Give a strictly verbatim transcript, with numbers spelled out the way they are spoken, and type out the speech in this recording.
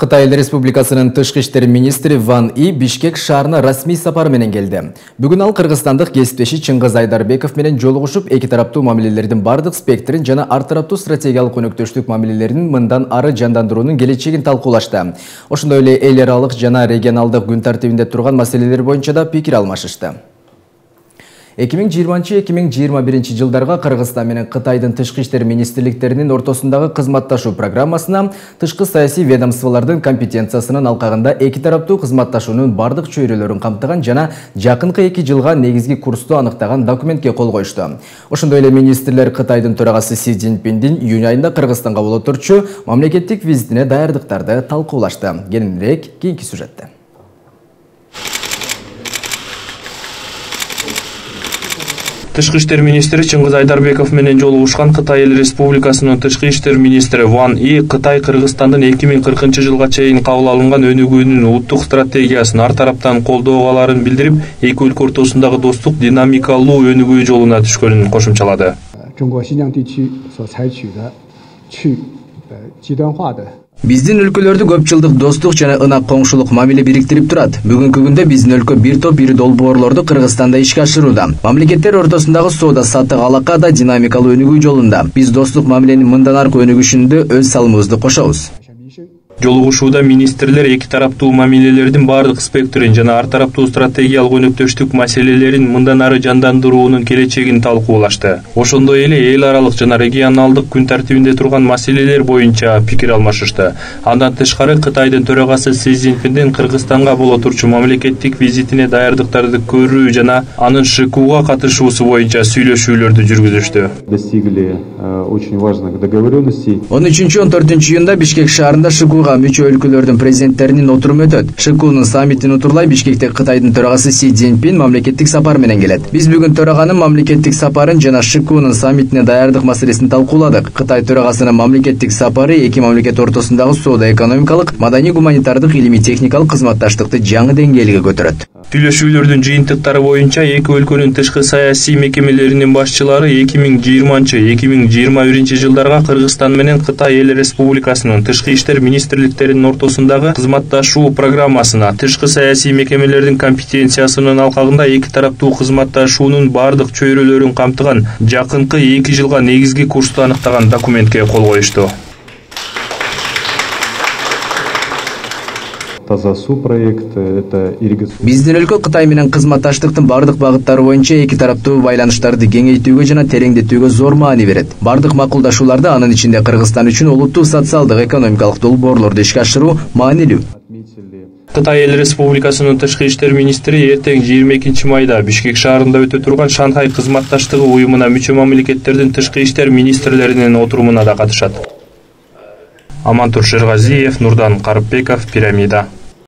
Кытай Республикасынын тышкы иштер министри Ван И Бишкек шаарына расмий сапар менен келди. Бүгүн ал кыргызстандык кесиптеши Чыңгыз Айдарбеков менен жолугушуп, эки тараптуу мамилелердин бардык спектрин жана ар тараптуу стратегиялык өнөктөштүк мамилелерин мындан ары жандандыруунун келечегин талкуулашты. Ошондой эле эл аралык жана регионалдык күн тартибинде турган маселелер боюнча да пикир алмашышты. эки миң жыйырманчы — эки миң жыйырма биринчи жылдарга Кыргызстан менен Кытайдын тышкы иштер министрликтеринин ортосундагы кызматташуу программасына тышкы саясий ведомстволордун компетенциясынын алкагында эки тараптуу кызматташуунун бардык чөйрөлөрүн камтыган жана жакынкы эки жылга негизги курсту аныктаган документке кол коюшту. Ошондой эле министрлер Кытайдын төрагасы Си Цзиньпиндин июнь айында Кыргызстанга боло турчу мамлекеттик визитине даярдыктарды талкуулашты. Кененирээк кийинки сюжетте. Тышкы иштер министри Чыңгыз Айдарбеков менен жолугушкан Кытай Республикасынын тышкы иштер министри Ван И Кытай Кыргызстандын эки миң кыркынчы жылга чейин кабыл алынган өнүгүүнүн улуттук стратегиясын ар тараптан колдооларын билдирип, эки өлкө ортосундагы достук динамикалуу өнүгүү жолуна түшкөнүн кошумчалады. Биздин өлкөлөрдү көп жылдык достук жана ынак коңшулук мамиле бириктирип турат. Бүгүнкү күндө биздин өлкө бир топ ири долбоорлорду Кыргызстанда ишке ашырууда. Мамлекеттер ортосундагы соода саттык алака да динамикалуу өнүгүү жолунда. Биз достук мамиленин мындан аркы өнүгүшүндө өз салымыбызды кошобуз. Жолугушууда министрлер эки тараптуу мамилелердин бардык спектрин жана ар тараптуу стратегиялык өнөктөштүк маселелерин мындан ары жандандыруунун келечегин талкуулашты. Ошондой эле эл аралык жана регионалдык күн тартибинде турган маселелер боюнча пикир алмашышты. Андан тышкары Кытайдын төрагасы Си Цзиньпиндин Кыргызстанга боло турчу мамлекеттик визитине даярдыктарды көрүү жана анын ШКУга катышуусу боюнча сүйлөшүүлөрдү жүргүзүштү. Достигли очень важных договоренностей. он үчүнчү — он төртүнчү июнда Бишкек шаарында ШКУга мүчө өлкөлөрдүн президенттеринин отуруму өтөт. ШКУнун саммитин утурлай Бишкекте Кытайдын төрагасы Си Цзиньпин мамлекеттик сапар менен келет. Биз бүгүн төраганын мамлекеттик сапарын жана ШКУнун саммитине даярдык маселесин талкууладык. Кытай төрагасынын мамлекеттик сапары эки мамлекет ортосундагы соода-экономикалык, маданий-гуманитардык, илимий-техникалык кызматташтыкты жаңы деңгээлге көтөрөт. Сүйлөшүүлөрдүн жыйынтыктары боюнча эки өлкөнүн тышкы саясий мекемелеринин башчылары эки миң жыйырманчы — эки миң жыйырма биринчи жылдарга Кыргызстан менен Кытай Эл Республикасынын тышкы иштер министрликтеринин ортосундагы кызматташуу программасына тышкы саясий мекемелердин компетенциясынын алкагында эки тараптуу кызматташуунун бардык чөйрөлөрүн камтыган жакынкы эки жылга негизги курсту аныктаган документке кол коюшту. Биздин өлкө Кытай менен кызматташтыктын бардык багыттары боюнча эки тараптуу байланыштарды кеңейтүүгө жана тереңдетүүгө зор маани берет. Бардык макулдашууларды, анын ичинде Кыргызстан үчүн улуттук социалдык экономикалык долбоорлорду ишке ашыруу маанилүү. Кытай Эл Республикасынын тышкы иштер министри эртең жыйырма экинчи майда Бишкек шаарында өтө турган Шанхай кызматташтыгы уюмуна мүчө мамлекеттердин тышкы иштер министрлеринин отурумуна да катышат. Амантур Шерғазиев, Нурдан Карыпбеков, Пирамида.